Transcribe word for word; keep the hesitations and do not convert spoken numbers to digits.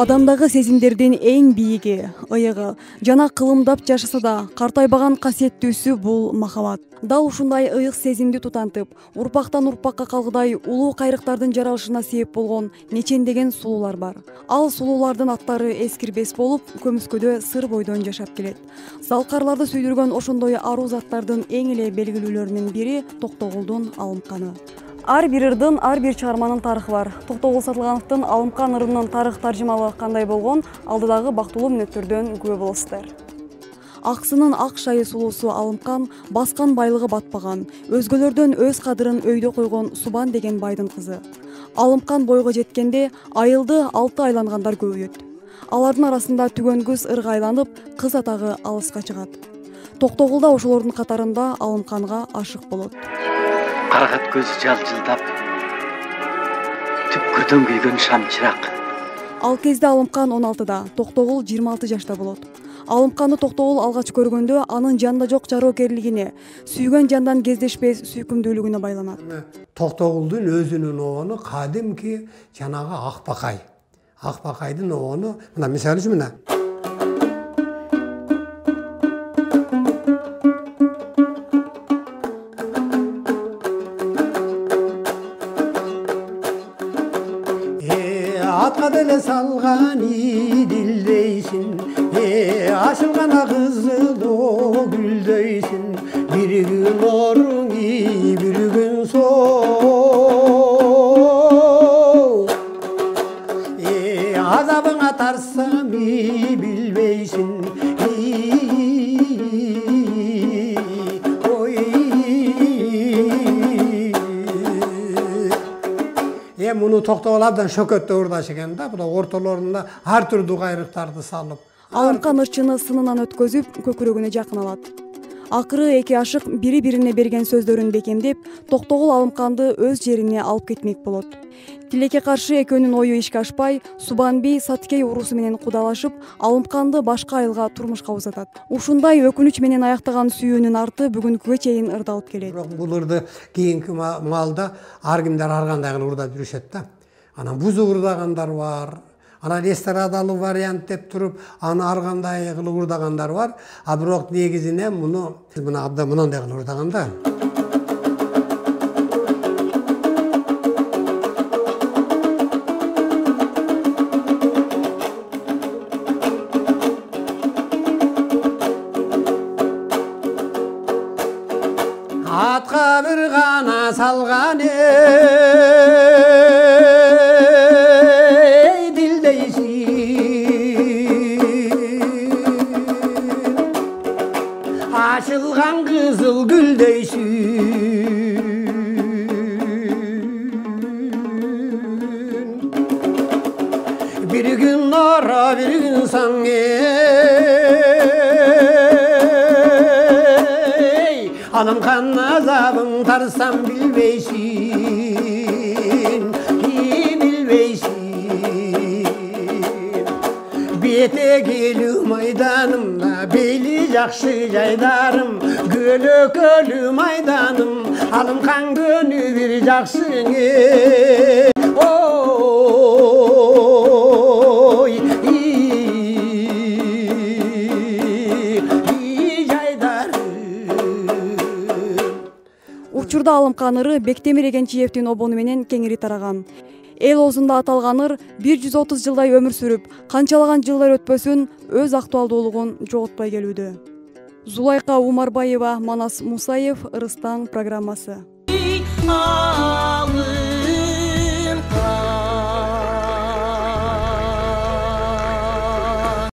Адамдагы сезимдердин эң бийиги, ыйыгы жана кылымдап жашаса да картайбаган касиеттүүсү бул махабат. Дал ушундай ыйык сезимди тутантып, урпактан урпакка калгыдай улуу кайрыктардын жаралышына себеп болгон нечендеген сулуулар бар. Ал сулуулардын аттары эскирбес болуп, көмүскөдө сыр бойдон жашап келет. Залкарларды сүйдүргөн ошондой аруу заттардын эң эле белгилүүлөрүнүн бири Токтогулдун Алымканы. Ар бир ырдын, ар бир чыгарманын тарыхы бар. Токтогул Сатылгановдун Алымкан ырынын тарых таржымалы кандай болгон, алдыдагы бактылуу мүнөттөрдөн күбө болосуздар. Аксынын ак шайы сулуусу Алымкан баскан байлыгы батпаган, өзгөлөрдөн өз кадырын өйдө койгон Субан деген байдын кызы. Алымкан бойго жеткенде айылды алты айлангандар көбөйөт. Алардын арасында түгөн кыз ырга айланып, кыз атагы алыска чыгат. Токтогул да ошолордун катарында Алымканга ашык болот. Карагат көзү жалжылдап, түпкүрдөн күйгөн шамчырак. Ал кезде Алымкан он алтыда, Токтогул жыйырма алты жашта болот. Алымканды Токтогул алгач көргөндө анын жанда жок жароокерлигине, сүйгөн жандан кездешпес сүйкүмдүүлүгүнө байланат. Токтогулдун өзүнүн обону кадимки жанагы Акбакай. Акбакайдын обону, мына мисалы үчүн мына. Атка деле салган идилдейсин, ашылган кызыл гүлдөйсүн, бир күн оруң и, бир күн соо. Азабыңа тарсам и, билбейсин, муну Токтогул абдан шөкөттө урдаш экен да, бул ортолорунда ар түрдүү кайрыктарды салып. Алымкан ырчыны сынынан өткөзүп, көкүрөгүнө жакын алат. Акыры эки ашык бири-бирине берген сөздөрүн бекемдеп, Токтогул Алымканды өз жерине алып кетмек болот. Тилекке каршы экөөнүн ою ишке ашпай, Субан бий Саткей уруусу менен кудалашып, Алымканды башка айылга турмушка узатат. Ушундай өкүнүч менен аяктаган сүйүүнүн арты бүгүнкүгө чейин ырдалып келет. Бирок бул ырды кийинки маалда ар кимдер ар кандай кылып ырдап жүрүшөт да. Анан бузук ырдагандар бар. Анан эстрадалуу вариант деп туруп, аны ар кандай кылып ырдагандар бар. А бирок негизинен муну мына абдан мындай кылып ырдаган да. Атка бир гана салган эй дилдейсин, ашылган кызыл гүлдейсин, бир күн ора, бир күн саң Алымкан азабың тарсам билбейсин, и билбейсин. Бете келүү майданымда, бели жакшы жайдарым, көлөкөлүү майданым, Алымкан көнү бир жакшыңы. Ой, Учурда Алымкан ыры Бектемир Эгенчиевдин обону менен кеңири тараган. Эл оозунда аталган ыр бир жүз отуз жылдай өмүр сүрүп, канчалаган жылдар өтпөсүн өз актуалдуулугун жоготпой келүүдө. Зулайка Умарбаева, Манас Мусаев, Ырыстан программасы.